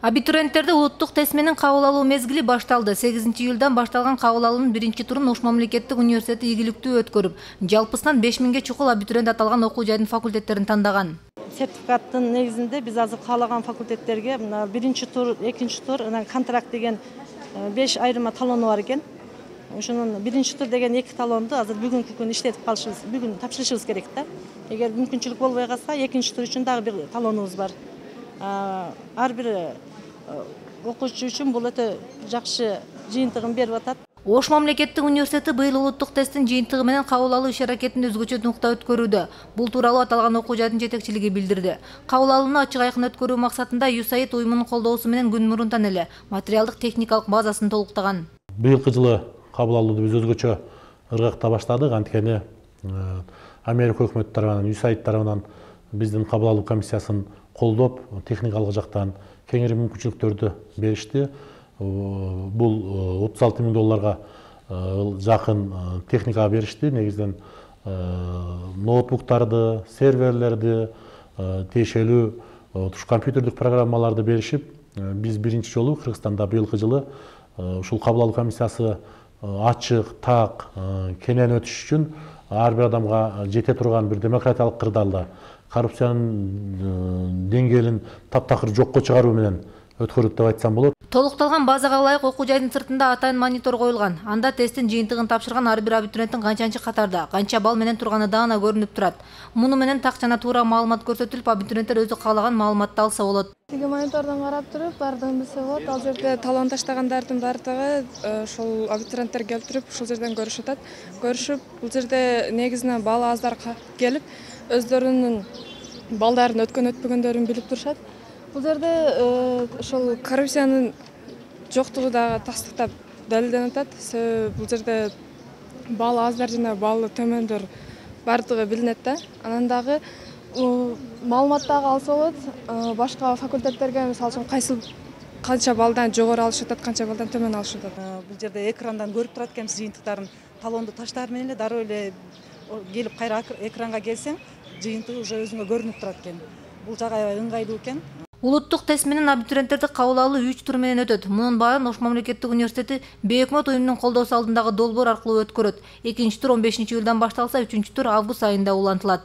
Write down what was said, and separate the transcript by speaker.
Speaker 1: Абитуриенттерди улуттук тест менен кабыл алуу мезгили башталды. 8-июлдан башталган кабыл алуунун биринчи турун Ош мамлекеттик университети ийгиликтүү өткөрүп, жалпысынан 5000ге чукул абитуриент аталган окуу жайдын факультеттерин тандаган.
Speaker 2: Сертификаттын негизинде биз азыр каалаган факультеттерге биринчи тур, экинчи тур, контракт деген 5 айырма талону бар экен. Ошонун биринчи тур деген 2 талонду азыр бүгүнкү күн иштетип калышыбыз, бүгүн тапшырышыбыз керек да. Эгер мүмкүнчүлүк болбой калса, экинчи тур үчүн дагы бир талонубуз бар. Ар бир окуучу үчүн бул өтө жакшы жыйынтыгын берип атат.
Speaker 1: Ош мамлекеттик университети быйыл улуттук тесттин жыйынтыгы менен кабыл алуу иш-аракетин өзгөчө нукта өткөрүүдө. Бул тууралуу аталган окуу жайдын жетекчилиги билдирди. Кабыл алууну ачык айкын өткөрүү максатында USAID уюмунун колдоосу менен күн мурунтан эле материалдык техникалык базасын толуктаган.
Speaker 3: Быйылкы жылы кабыл алууну биз өзгөчө ыргакта баштадык. Анткени Америка өкмөтү тарабынан, USAID тарабынан биздин кабыл алуу комиссиясын колдоп, техникалык жактан кеңири мүмкүнчүлүктөрдү беришти. Бул $36,000 жакын техникага беришти. Негизинен ноутбуктарды, серверлерди, тиешелүү компьютердик программаларды беришип, биз биринчи жолу Кыргызстанда быйылкы жылы ушул кабыл алуу комиссиясы ачык, так, кенен өтүш үчүн ар бир адамга жете турган бир демократиялык кырдаалда коррупциянын деңгээлин таптакыр жокко чыгаруу менен өткөрүлдү деп айтсам болот.
Speaker 1: Толукталган базага ылайык окуу жайдын сыртында атайын монитор коюлган. Анда тесттин жыйынтыгын тапшырган ар бир абитуриенттин канчанчы катарда, канча балл менен турганы даана көрүнүп турат. Муну менен так жана туура маалымат көрсөтүлүп, абитуриенттер өзү каалаган маалыматты алса болот.
Speaker 4: Тиги монитордон карап туруп, бардыгын билсе болот. Ал жерде талон таштагандардын бардыгы ошол абитуриенттер келип туруп, ушул жерден көрүшүп атат. Көрүшүп, бул жерде негизинен балл аздар келип, өздөрүнүн балдарын өткөн-өтпөгөндөрүн билип турушат. Бул жерде ошол коррупциянын жоктугу дагы тастыктап далилденип атат. Себеби бул жерде балл аздар жана баллы төмөндөр бардыгы билинет да. Анан дагы маалымат дагы алса болот. Башка факультеттерге мисалы үчүн канча баллдан жогору алышып атат, канча баллдан төмөн алышып атат.
Speaker 2: Бул жерде экрандан көрүп турат экенбиз жыйынтыктарын. Талонду таштаар менен эле дароо эле келип кайра экранга келсең, жыйынтыгы уже өзүңө көрүнүп турат экен. Бул жагы аябай ыңгайлуу экен.
Speaker 1: Улуттук тест менен абитуриенттерди кабыл алуу 3 тур менен өтөт. Мунун баарын Ош мамлекеттик университети бейөкмөт уюмунун колдоосу алдындагы долбоор аркылуу өткөрөт. Экинчи тур 15-июлдан башталса, 3-тур август айында улантылат.